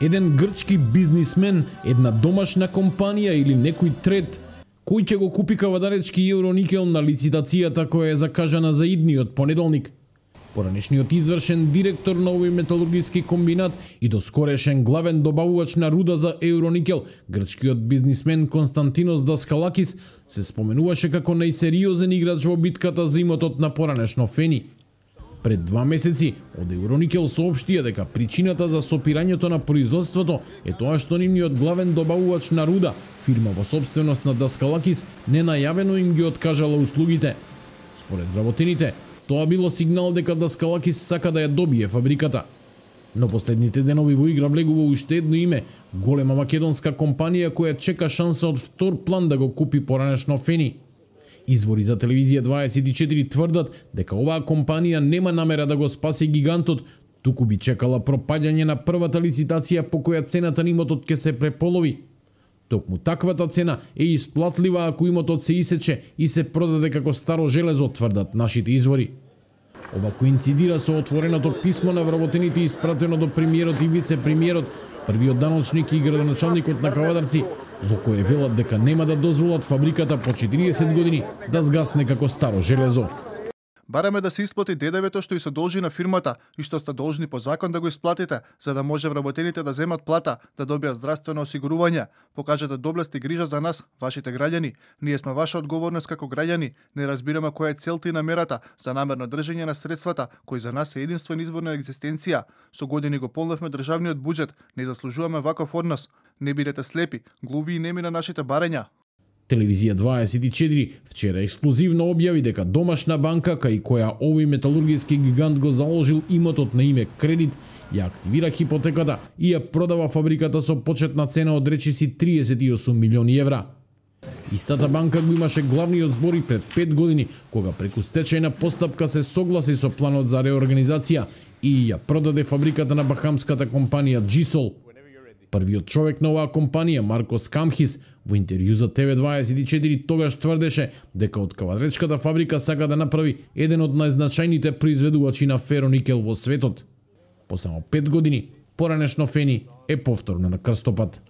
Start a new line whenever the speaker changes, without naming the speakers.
Еден грчки бизнисмен, една домашна компанија или некој трет, кој ќе го купи кавадаречки Евроникел на лицитацијата која е закажана за идниот понеделник. Поранешниот извршен директор на овој металургиски комбинат и доскорешен главен добавувач на руда за Евроникел, грчкиот бизнисмен Константинос Даскалакис, се споменуваше како најсериозен играч во битката за имотот на поранешно Фени. Пред 2 месеци од Евроникел соопштија дека причината за сопирањето на производството е тоа што нивниот главен добавувач на руда, фирма во собственост на Даскалакис, ненајавено им ги откажала услугите. Според вработените, тоа било сигнал дека Даскалакис сака да ја добие фабриката. Но последните денови во игра влегува уште едно име, голема македонска компанија која чека шанса од втор план да го купи поранешно Фени. Извори за телевизија 24 тврдат дека оваа компанија нема намера да го спаси гигантот, туку би чекала пропаѓање на првата лицитација по која цената на имотот ќе се преполови. Токму таквата цена е исплатлива ако имотот се исече и се продаде како старо железо, тврдат нашите извори. Ова коинцидира со отвореното писмо на вработените испратено до премиерот и вице-премиерот, првиот даночник и градоначалникот на Кавадарци, во кое велат дека нема да дозволат фабриката по 40 години да згасне како старо железо.
Бараме да се исплати ДДВ-то што и се должи на фирмата и што сте должни по закон да го исплатите, за да може вработените да земат плата, да добијат здравствено осигурување. Покажете доблест и грижа за нас, вашите граѓани. Ние сме ваша одговорност како граѓани. Не разбираме која е целта и намерата за намерно држење на средствата, кои за нас е единствен извор на екзистенција. Со години го полневме државниот буџет, не заслужуваме ваков однос. Не бидете слепи, глуви и неми на нашите барења.
Телевизија 24 вчера ексклузивно објави дека домашна банка, кај која овој металургиски гигант го заложил имотот на име кредит, ја активира хипотеката и ја продава фабриката со почетна цена од речиси 38 милиони евра. Истата банка го имаше главниот збор и пред 5 години, кога преку стечајна постапка се согласи со планот за реорганизација и ја продаде фабриката на бахамската компанија Джисол. Првиот човек на оваа компанија, Маркос Камхис, во интервју за TV24 тогаш тврдеше дека од кавадречката фабрика сака да направи еден од најзначајните произведувачи на фероникел во светот. По само 5 години, поранешно Фени е повторно на крстопат.